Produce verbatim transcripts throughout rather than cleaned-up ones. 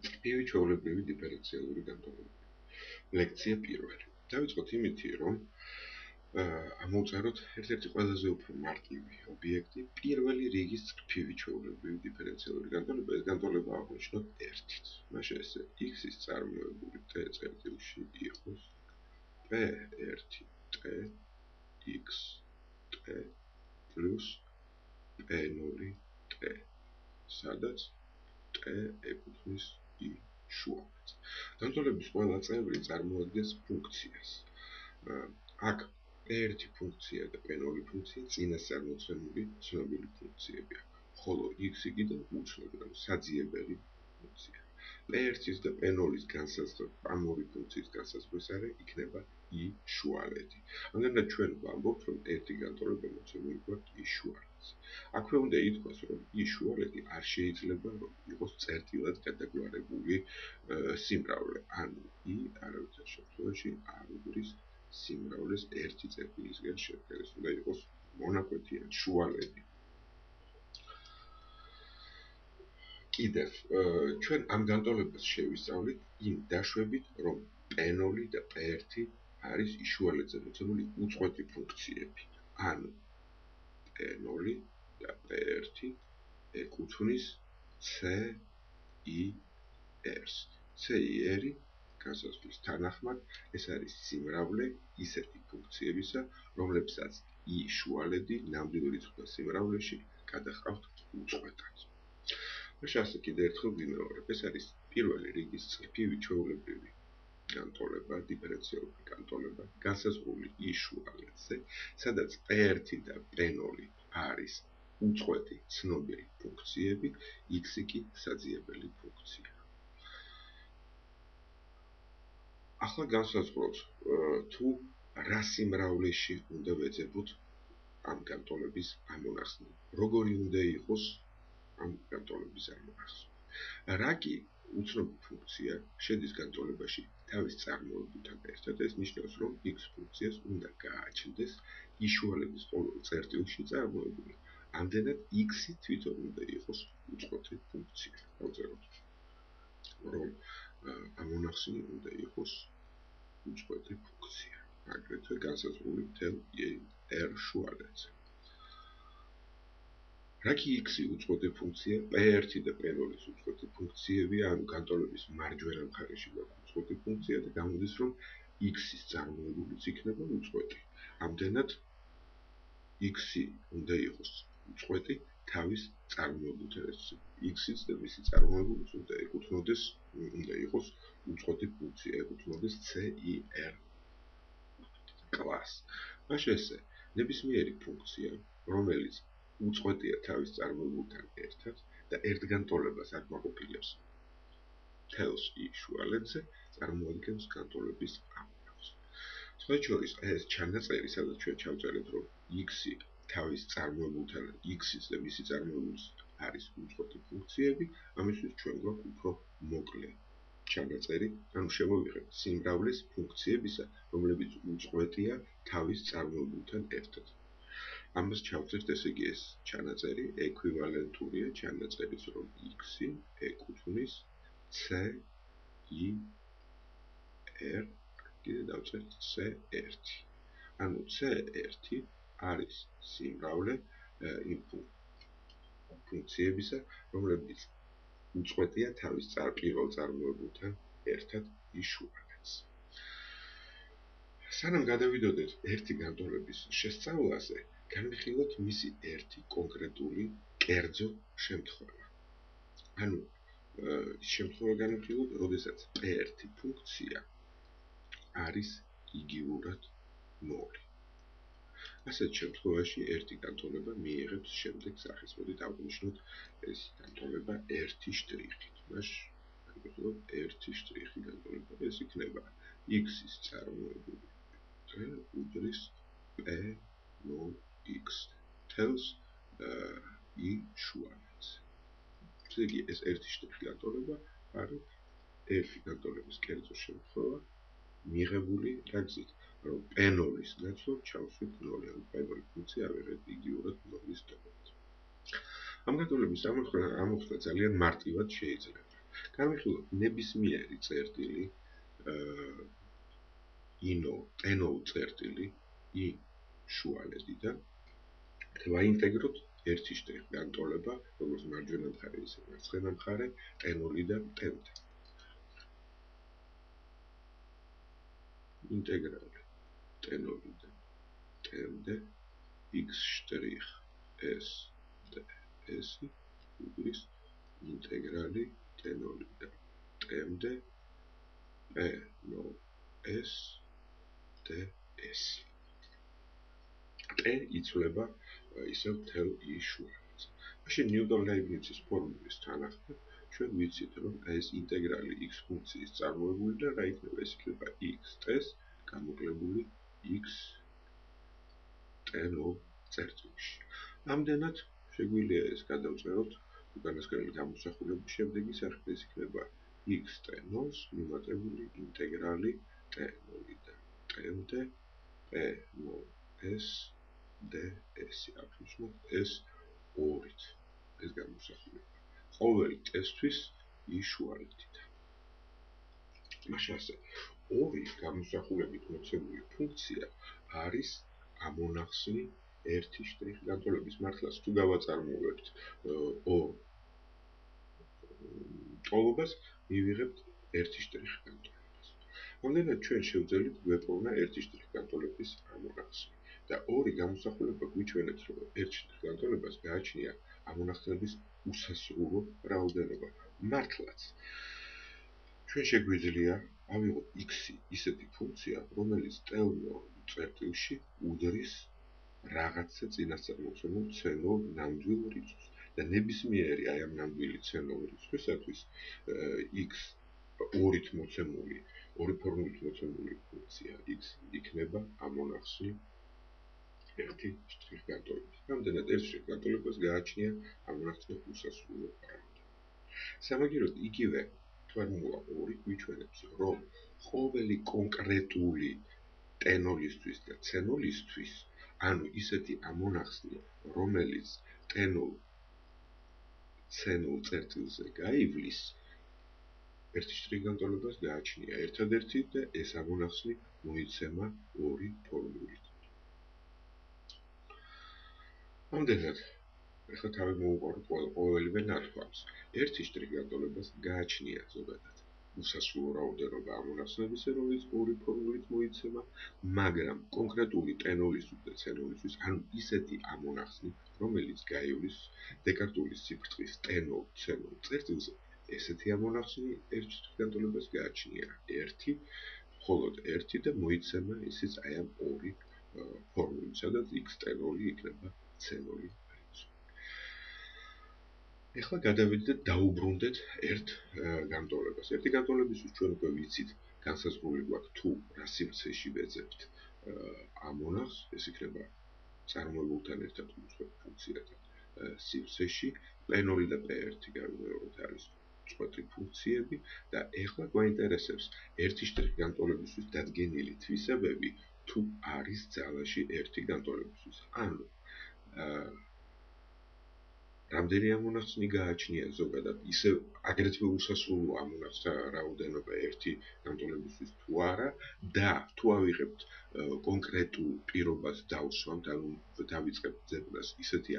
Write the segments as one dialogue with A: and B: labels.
A: წრფივი ჩვეულებრივი დიფერენციალური განტოლებები. ლექცია პირველი. დავიწყოთ იმითი, რომ ამოვწეროთ ერთ-ერთი ყველაზე უფრო მარტივი ობიექტი, პირველი რიგის წრფივი ჩვეულებრივი დიფერენციალური განტოლება, ეს განტოლება აღვნიშნოთ ერთით. მაშინ ესე x-ის წარმოებული t წერტილში იყოს p ერთი t x t plus p ნული t, სადაც t ეკუთვნის i შუახეთს. განტოლების ყველა წევრი წარმოადგენს ფუნქციას. აქ p ერთი ფუნქცია და p ნული ფუნქცია წინასწარმოცემული ცნობილი ფუნქციებია, ხოლო x კიდევ უცნობი, საძიებელი ფუნქცია. p ერთის და p ნულის განსაზღვრება, ამ ორი ფუნქციის განსაზღვრის არე იქნება i შუალედი. ამდენად ჩვენ ვამბობთ, რომ ერთი განტოლება მოცემული გვაქვს i შუალედზე. აქვე უნდა ითქვას, რომ i შუალედი არ შეიძლება იყოს წერტილად გადაგვარებული სიმრავლე, ანუ i არავითარ შემთხვევაში არ უძრის სიმრავლეს ერთი წერტილისგან შედგენას, უნდა იყოს მონაკვეთი ან შუალედი. კიდევ, ჩვენ ამ განტოლებას შევისწავლით იმ დაშვებით, რომ p ნული და p ერთი არის i შუალედზე მოცემული უწყვეტი ფუნქციები. ანუ p ნული და p ერთი ეკუთვნის c i r-ს. c i r-ი განსაზღვრის თანახმად, ეს არის სიმრავლე ისეთი ფუნქციებისა, რომლებსაც i შუალედი ნამდვილ რიცხვთა სიმრავლეში გადაჰყავთ უწყვეტად. მაშინ ასე კიდევ ერთხელ ვიმეორებ, ეს არის პირველი რიგის წრფივი ჩვეულებრივი განტოლება, დიფერენციალური განტოლება, განსაზღვრული i შუალედზე, სადაც p ერთი და p ნული არის უწყვეტი ცნობილი ფუნქციები, x კი საძიებელი ფუნქცია. ახლა განსაზღვროთ, თუ რა სიმრავლეში უნდა ვეძებოთ ამ განტოლების ამონახსნი, როგორი უნდა იყოს ამ განტოლების ამონახსნი. რა კი უცნობი ფუნქცია შედის განტოლებაში თავის წარმოებულთან ერთად, ეს ნიშნავს, რომ x ფუნქციას უნდა გააჩნდეს i შუალედის ყოველ წერტილში წარმოებული. ამდენად x-ი თვითონ უნდა იყოს უწყვეტი ფუნქცია. დავწეროთ, რომ ამონახსნი უნდა იყოს უწყვეტი ფუნქცია, აგრეთვე განსაზღვრული მთელ r შუალედზე. რა კი x-ი უწყვეტი ფუნქცია, p ერთი და p ნულის უწყვეტი ფუნქციებია, ანუ განტოლების მარჯვენა მხარეში გვაქვს უწყვეტი ფუნქცია და გამოდის, რომ x-ის წარმოებულიც იქნება უწყვეტი. ამდენად x-ი უნდა იყოს უწყვეტი თავის წარმოებულთან ერთად. x-იც და მისი წარმოებულიც უნდა ეკუთვნოდეს, უნდა იყოს უწყვეტი ფუნქცია, ეკუთვნოდეს c i r კლასს. მაშინ ესე, ნებისმიერი ფუნქცია, რომელიც უწყვეტია თავის წარმოებულთან ერთად და ერთგანტოლებას აკმაყოფილებს მთელს i შუალედზე, წარმოადგენს განტოლების ამონახსნს. სხვათა შორის, ეს ჩანაწერი, სადაც ჩვენ ჩავწერეთ, რომ x-ი თავის წარმოებულთან, x-იც და მისი წარმოებულიც არის უწყვეტი ფუნქციები, ამისთვის ჩვენ გვაქვს უფრო მოკლე ჩანაწერი, ანუ შემოვიღებთ სიმრავლის ფუნქციებისა, რომლებიც უწყვეტია თავის წარმოებულთან ერთად. ამას ჩავწერთ, ესე იგი ეს ჩანაწერი ექვივალენტურია ჩანაწერის, რომ x-ი ეკუთვნის c i r, კიდე დავწერთ c ერთი. ანუ c ერთი არის სიმრავლე იმ ფუნქციებისა, რომლებიც უწყვეტია თავის პირველ წარმოებულთან ერთად i შუალედზე. სანამ გადავიდოდეთ ერთი განტოლების შესწავლაზე, განვიხილოთ მისი ერთი კონკრეტული კერძო შემთხვევა. ანუ შემთხვევა განვიხილოთ, როდესაც p ერთი ფუნქცია არის იგივურად ნული. ასეთ შემთხვევაში ერთი განტოლება მიიღებს შემდეგ სახეს. მოდით აღვნიშნოთ ეს განტოლება ერთი შტრიხით. მაშინ განვიხილოთ ერთი შტრიხი განტოლება. ეს იქნება x-ის წარმოებული უდრის p ნულ x თელს i შუალედზე. ესე იგი, ეს ერთი შტრიხი განტოლება არის ერთი განტოლების კერძო შემთხვევა, მიღებული რა გზით, რომ p ნულის ნაცვლად ჩავშვით ნული, ანუ p ნული ფუნქცია ავიღეთ იგივურად ნულის ტოლად. ამ განტოლების ამოხსნა ძალიან მარტივად შეიძლება. განვიხილოთ ნებისმიერი წერტილი ინო ტენოლ წერტილი i შუალედიდან ვაინტეგროთ ერთი შტრიხი განტოლება, როგორც მარჯვენა მხარე, ისე მარცხენა მხარე, ტენოლიდან ტემდე. ინტეგრალი ტენოლიდან ტემდე x შტრიხ s ds უდრის ინტეგრალი ტენოლიდან ტემდე p no s ds. T იცვლება ისევ მთელ i შუალედს. მაშინ ნიუტონ-ლაიბნიცის ფორმულის თანახმად ჩვენ ვიცით, რომ ეს ინტეგრალი x ფუნქციის წარმოებული და რა იქნება, ეს იქნება x t-ს გამოკლებული x t-ნოლ წერტილში. ამდენად შეგვიძლია ეს გადავწეროთ უკანასკნელი გამოსახულების შემდეგი სახით, ეს იქნება x t-ნოლს მიმატებული ინტეგრალი t-ნოლიდან ტემდე p no s ds აფუძნოთ ეს ორით ეს გამოსახულება. ყოველი ტესტვის i შუალედიდან. მაშინ ასე ორი გამოსახულებით მოცემული ფუნქცია არის ამონახსნი ერთი შტრიხი განტოლების მართლაც თუ გავაწარმოებთ ორ ტოლობას მივიღებთ ერთი შტრიხი განტოლებას. ამდენად ჩვენ შევძელით გვეპოვნა ერთი შტრიხი განტოლების ამონახსნი. და ორი გამოსახულება გვიჩვენებს, რომ ერთ შტრიხ განტოლებას გააჩნია ამონახსნების უსასრულო რაოდენობა. მართლაც ჩვენ შეგვიძლია ავიღოთ x-ი ისეთი ფუნქცია, რომელიც ტენოლ წერტილში უდრის რაღაცა წინასწარ მოცემულ c-ნოლ ნამდვილ რიცხვს და ნებისმიერი აი ამ ნამდვილი c-ნოლ რიცხვისათვის x ორით მოცემული, ორი ფორმულით მოცემული ფუნქცია x იქნება ამონახსნი ერთი შტრიხ განტოლების. ამდენად ერთ შტრიხ განტოლებას გააჩნია ამონახსნი უსასრულო რაოდენობა. სამაგიეროდ იგივე ფორმულა ორი გვიჩვენებს, რომ ყოველი კონკრეტული ტენოლისთვის და c-ნოლისთვის, ანუ ისეთი ამონახსნი, რომელიც ტენოლ c-ნოლ წერტილზე გაივლის, ერთი შტრიხ განტოლებას გააჩნია ერთადერთი და ეს ამონახსნი მოიცემა ორი ფორმულით. ამდენად ეხლა თავი მოუყაროთ ყოველივე ნათქვამს. ერთი შტრიხ განტოლებას გააჩნია ზოგადად უსასრულო რაოდენობა ამონახსნებისა, რომელიც ორი ფორმულით მოიცემა, მაგრამ კონკრეტული ტენოლისთვის და c-ნოლისთვის, ანუ ისეთი ამონახსნი, რომელიც გაივლის დეკარტული სიფრთხის ტენოლ c-ნოლ წერტილზე, ესეთი ამონახსნი ერთ შტრიხ განტოლებას გააჩნია ერთი, მხოლოდ ერთი და მოიცემა ისიც აი ამ ორი ფორმულით, სადაც x ტენოლი იქნება c-ნოლი რიცხვი. ეხლა გადავიდეთ დაუბრუნდეთ ერთ განტოლებას. ერთი განტოლებისთვის ჩვენ უკვე ვიცით, განსაზღვრული გვაქვს თუ რა სივრცეში ვეძებთ ამონახს, ეს იქნება წარმოებულთან ერთად უწყვეტ ფუნქციათა სივრცეში, p ნოლი და p ერთი გავიმეოროთ არის უწყვეტი ფუნქციები და ეხლა გვაინტერესებს ერთი შტრიხ განტოლებისთვის დადგენილი თვისებები თუ არის ძალაში ერთი განტოლებისთვის. ანუ რამდენი ამონახსნი გააჩნია ზოგადად, ისე აგრეთვე უსასრულო ამონახსნთა რაოდენობა ერთი განტოლებისთვის თუ არა და თუ ავიღებთ კონკრეტულ პირობას დავსვამთ, ანუ დავიწყებთ ძებნას ისეთი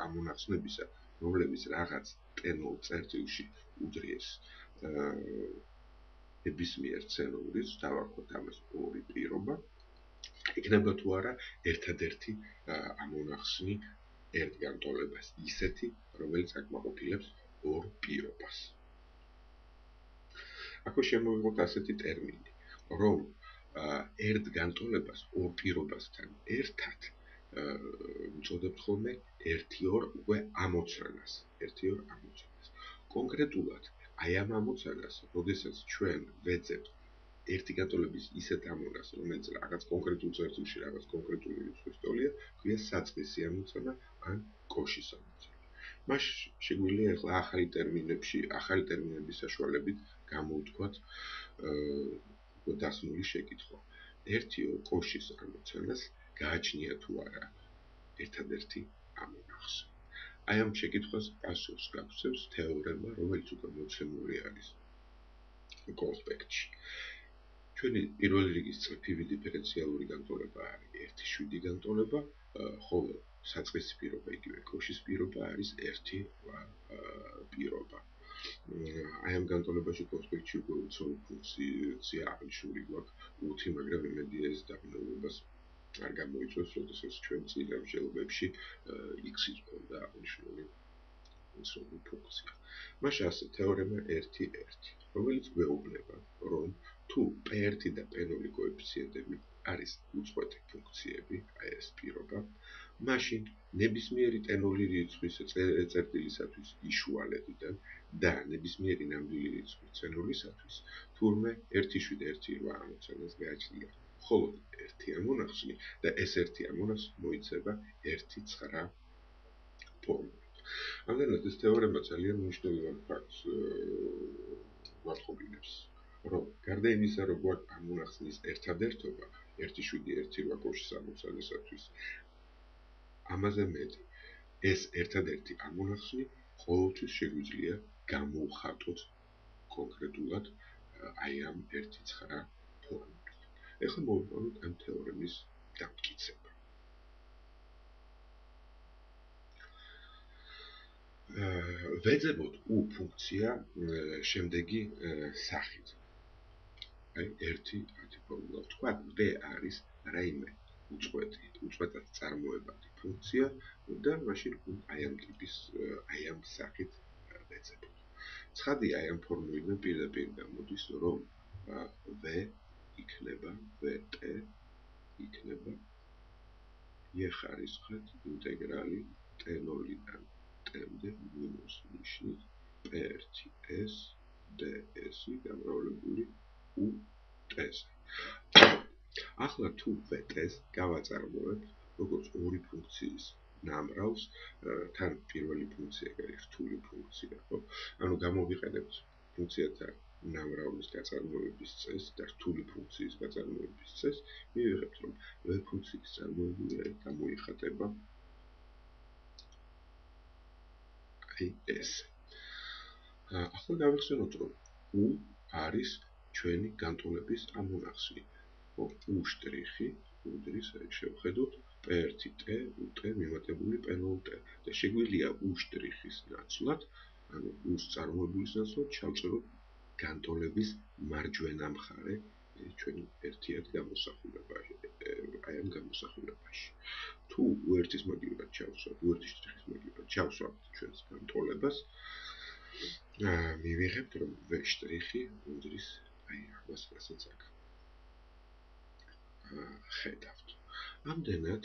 A: ამონახსნებისა, რომლებიც რაღაც ტენოლ წერტილში უდრის ნებისმიერ c-ნოლ რიცხვს, დავარქვათ ამას ორი პირობა, იქნება თუ არა ერთადერთი ამონახსნი ერთ განტოლებას ისეთი, რომელიც აკმაყოფილებს ორ პირობას. აქვე შემოვიღოთ ასეთი ტერმინი, რომ ერთ განტოლებას ორ პირობასთან ერთად ვუწოდებთ ხოლმე ერთი ორ უკვე ამოცანას, ერთი ორ ამოცანას. კონკრეტულად აი ამ ამოცანას, როდესაც ჩვენ ვეძებთ ერთი განტოლების ისეთ ამონახსს, რომელიც რაღაც კონკრეტულ წერტილში რაღაც კონკრეტული რიცხვის ტოლია, ქვია საწყისი ამოცანა ან კოშის ამოცანა. მას შეგვიძლია ახლა ახალი ტერმინებში, ახალი ტერმინების საშუალებით გამოვთქვათ დასმული შეკითხვა. ერთი ორ კოშის ამოცანას გააჩნია თუ არა ერთადერთი ამონახსი. აი ამ შეკითხვას პასუხს გაგცემს თეორემა, რომელიც უკვე მოცემული არის კონსპექტში. ჩვენი პირველი რიგის წრფივი დიფერენციალური განტოლება არის ერთი შვიდი განტოლება, ხოლო საწყისი პირობა იგივე კოშის პირობა არის ერთი რვა პირობა. აი ამ განტოლებაში კონსპექტში უკვე უცოლო ფუნქცია აღნიშნული გვაქვს უთი, მაგრამ იმედია ეს დაბრუნებას არ გამოიწვევს, როდესაც ჩვენ წინ ამჟღავნებებში x-ის მქონდა აღნიშნული უცოლო ფუნქცია. მაშინ ასე თეორემა ერთი ერთი, რომელიც გვეუბნება, რომ თუ პ ერთი და პ ნული კოეფიციენტები არის უწყვეტი ფუნქციები, აი ეს პირობა, მაშინ ნებისმიერი ტ ნული რიცხვის წერტილისათვის იშუალებიდან და ნებისმიერი ნამდვილი რიცხვის c ნულისათვის თურმე ერთი შვიდ ერთი რვა ამოცანას გააჩნია. ხოლო ერთი ამონახსნი და ეს ერთი ამონახსნი მოიცება ერთი ცხრა ფორმულით. ამდენად ეს თეორემა ძალიან მნიშვნელოვან ფაქტს გვატყობინებს, რომ გარდა იმისა, რომ გვაქვს ამონახსნის ერთადერთობა ერთი შვიდი ერთი რვა კოშის ამოცანისათვის, ამაზე მეტი ეს ერთადერთი ამონახსნი ყოველთვის შეგვიძლია გამოვხატოთ კონკრეტულად აი ამ ერთი ცხრა ფორმულით. ეხლა მოვიყვანოთ ამ თეორემის დამტკიცება. ვეძებოთ u ფუნქცია შემდეგი სახით. აი ერთი ათი ფორმულა ვთქვათ, b არის რაიმე უწყვეტი, უწყვეტად წარმოებადი ფუნქცია და მაშინ აი ამ ტიპის, აი ამ სახით ვეძებოთ. ცხადია, აი ამ ფორმულიდან პირდაპირ გამოდის, რომ v იქნება vt იქნება e ხარისხად ინტეგრალი t ნულიდან t-მდე მინუს ნიშნით p ერთი s ds-ი გამრავლებული u-t-ზე. ახლა თუ vt-ს გავაწარმოებთ როგორც ორი ფუნქციის ნამრავლს, თან პირველი ფუნქცია არის რთული ფუნქცია, ხო? ანუ გამოვიყენებთ ფუნქციათა ნამრავლის გაწარმოების წესს და რთული ფუნქციის გაწარმოების წესს, მივიღებთ, რომ v ფუნქციის წარმოებული აი გამოიხატება აი ეს. ახლა გავიხსენოთ, რომ u არის ჩვენი განტოლების ამონახსნი. u შტრიხი უდრის, აი შევხედოთ p ერთი t ut მიმატებული p ნული t და შეგვიძლია u შტრიხის ნაცვლად, ანუ u-ს წარმოებულის ნაცვლად ჩავწეროთ განტოლების მარჯვენა მხარე ჩვენი ერთიად გამოსახულებაში, აი ამ გამოსახულებაში. თუ u-ის მაგივრად ჩავსვათ, u-ის შტრიხის მაგივრად ჩავსვათ ჩვენს განტოლებას, მივიღებთ, რომ v შტრიხი უდრის აი ამას, რასაც აქ ხედავთ. ამდენად